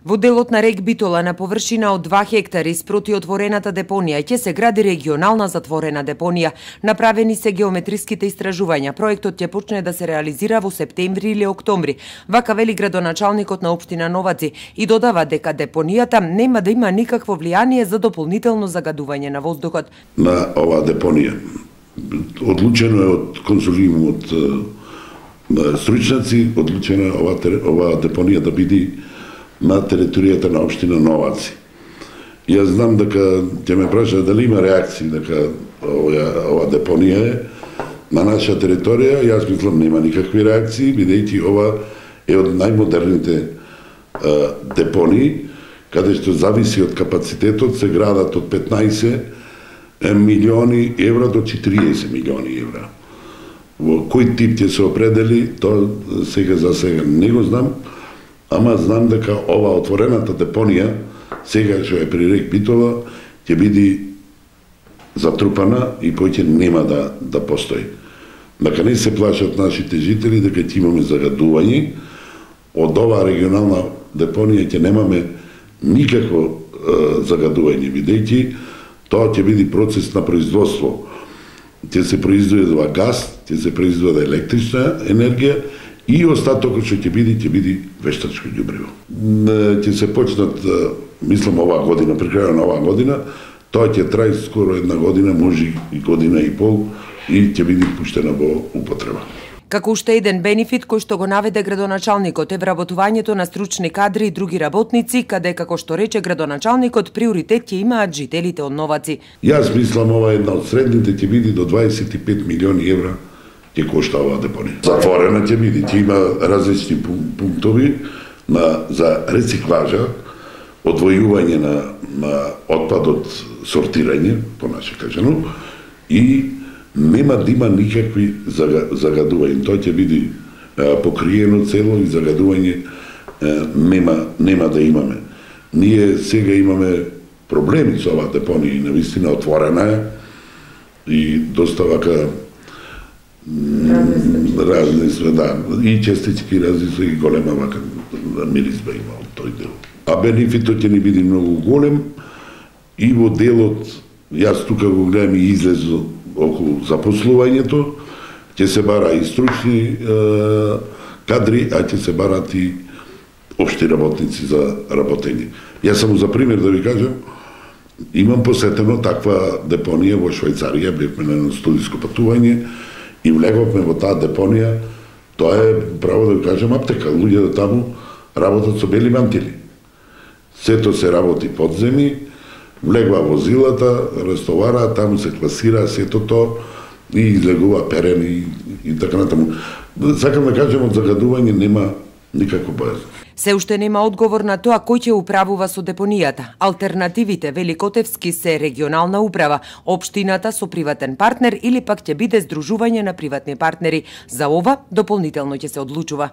Во делот на рек Битола на површина од 2 хектари спроти отворената депонија ќе се гради регионална затворена депонија. Направени се геометриските истражувања. Проектот ќе почне да се реализира во септември или октомври. Вака вели градоначалникот на општина Новаци и додава дека депонијата нема да има никакво влијание за дополнително загадување на воздухот. На оваа депонија одлучено е од консулиум од стручњаци, одлучено е оваа депонија да биде на територијата на општина Новаци. Јас знам дека ќе ме праша дали има реакции дека ова депонија е на наша територија. Јас мислам нема никакви реакции, бидејќи ова е од најмодерните депонии, каде што зависи од капацитетот, се градат од 15 милиони евра до 40 милиони евра. Во кој тип ќе се определи, тоа сега за сега не го знам, ама знам дека ова отворената депонија, сега што е при рек Битола, ќе биде затрупана и повеќе нема да постои. Дека не се плашат нашите жители дека ќе имаме загадување, од оваа регионална депонија ќе немаме никакво загадување, бидејќи тоа ќе биде процес на производство. Ќе се произведува газ, ќе се произведува електрична енергија, и остатокот што ќе биде вештачко ѓубриво. Ќе се почнат, мислам, оваа година, при крајот на оваа година, тоа ќе трае скоро една година, може и година и пол, и ќе биде пуштена во употреба. Како уште еден бенефит кој што го наведе градоначалникот е вработувањето на стручни кадри и други работници, каде, како што рече градоначалникот, приоритет ќе имаат жителите од Новаци. Јас мислам ова една од средните ќе биде до 25 милиони евра ќе кошта оваа депонија. Затворена ќе биде, ќе има различни пунктови за рециклажа, одвојување на отпадот, сортирање, понаше кажано, и нема да има никакви загадувања. Тоа ќе биде покриено цело и загадување нема да имаме. Ние сега имаме проблеми со оваа депонија и навистина отворена е и доста вака разни све, да, и честички разни и голема вака миризба има од тој дел. А бенефитот ќе ни биде многу голем и во делот, јас тука го гледам и излезо околу запослувањето, ќе се бара и стручни кадри, а ќе се барат и општи работници за работење. Јас само за пример да ви кажам, имам посетено таква депонија во Швајцарија, бевме на едно студиско патување, и влеговме во таа депонија, тоа е, право да ви кажам, аптека. Луѓето таму работат со бели мантили. Сето се работи подземи, влегва возилата, рестовара, таму се класира сето тоа и излегува перен и така натаму. Сакам да кажам, од загадување нема никако бојазно. Се уште нема одговор на тоа кој ќе управува со депонијата. Алтернативите, вели Котевски, се регионална управа, општината со приватен партнер или пак ќе биде здружување на приватни партнери. За ова дополнително ќе се одлучува.